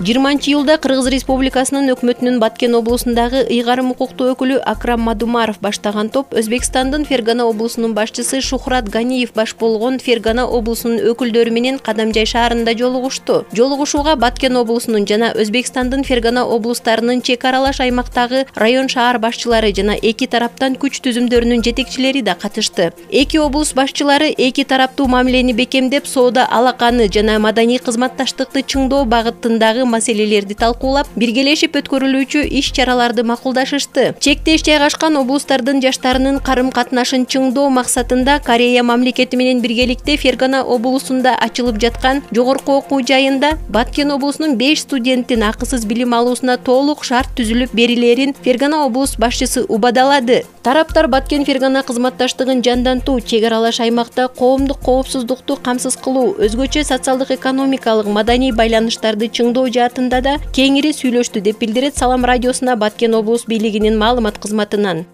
20-июлда Кыргыз Республикасынын өкмөтүнүн Баткен облусундагы ыйгарым укуктуу өкүлү Акрам Мадумаров баштаган топ Өзбекстандын Фергана облусунун башчысы Шухрат Ганиев баш болгон Фергана облусунун өкүлдөрү менен Кадамжай шаарында жолугушту. Жолугушууга Баткен облусунун жана Өзбекстандын Фергана облустарынын чек аралаш аймактагы район шаар башчылары жана эки тараптан күч түзүмдөрүнүн жетекчилери да катышты. Эки облус башчылары эки тараптуу мамилени бекемдеп, соода алаканы жана маданий кызматташтыкты чыңдоо багытындагы маселелерди талкуулап, биргелешип өткөрүлүүчү иш-чараларды макулдашышты. Чектеш жайгашкан облустардын жаштарынын карым-катнашын чыңдоо максатында Корея мамлекети менен биргеликте Фергана облусунда ачылып жаткан жогорку окуу жайында Баткен облусунун 5 студенттин акысыз билим алуусуна толук шарт түзүлүп берилерин Фергана облус башчысы убадалады. Тараптар Баткен Фергана кызматташтыгын жандантуу, чек аралаш аймакта коомдук коопсуздукту камсыз кылуу, өзгөчө социалдык экономикалык маданий байланыштарды чыңдоо жаатында да кеңири сүйлөштү деп билдирет Салам радиосуна Баткен облус бийлигинин маалымат кызматынан.